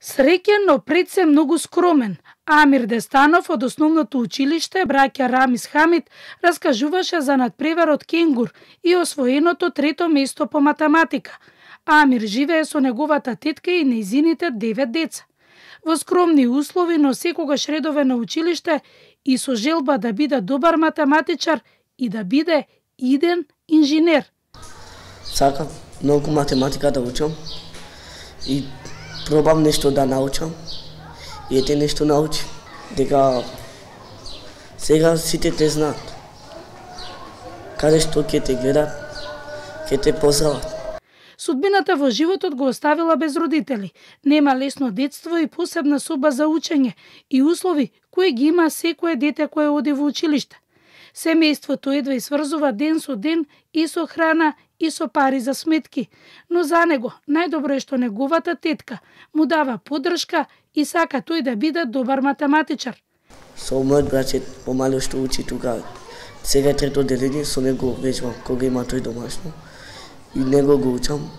Среќен, но пред се многу скромен, Амир Дестанов од основното училиште браќа Рамис Хамид раскажуваше за надпреварот кенгур и освоеното трето место по математика. Амир живее со неговата тетка и нејзините 9 деца. Во скромни услови, но секогаш редовен на училиште и со желба да биде добар математичар и да биде иден инженер. Сакам многу математика да учам и пробам нешто да научам и ете нешто научи. Дека сега сите те знаат. Каде што ќе те гледат, ќе те познават. Судбината во животот го оставила без родители. Нема лесно детство и посебна соба за учење и услови кои ги има секое дете кое оди во училиште. Семејството едва сврзува ден со ден и со храна и со пари за сметки, но за него најдобро е што неговата тетка му дава поддршка и сака тој да биде добар математичар. Со мојот браќе помало што учи тука, сега трето делење, со него веќе кога има тој домашно и него го учам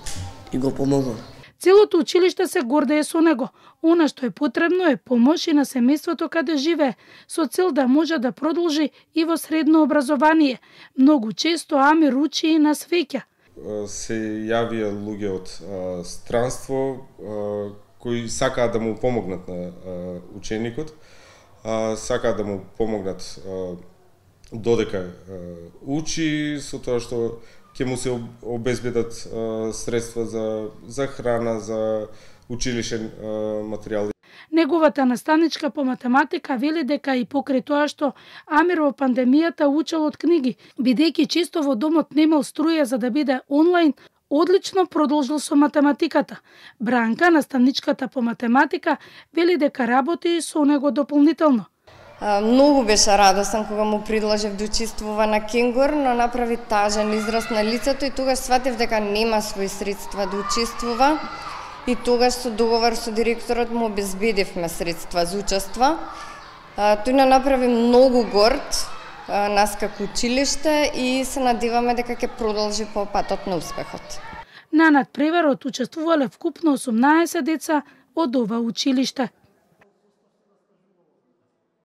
и го помогам. Целото училиште се гордее со него. Она што е потребно е помош и на семејството каде живее, со цел да може да продолжи и во средно образование. Многу често Амир учи и на свеќа. Се јавија луѓе од странство кои сакаат да му помогнат на ученикот, сакаат да му помогнат додека учи, со тоа што ќе му се обезбедат средства за храна, за училишен материјал. Неговата наставничка по математика вели дека и покрај тоа што Амир во пандемијата учел од книги, бидејќи често во домот немал струја за да биде онлайн, одлично продолжил со математиката. Бранка, наставничката по математика, вели дека работи со него дополнително. Многу беше радосен кога му предложив да учествува на кенгур, но направи тажен израз на лицето и тогаш сватив дека нема свои средства да учествува. И тогаш со договор со директорот му обезбедивме средства за учество. Тој не направи многу горд нас како училиште и се надеваме дека ќе продолжи по патот на успехот. На надпреварот учествувале вкупно 18 деца од ова училиште.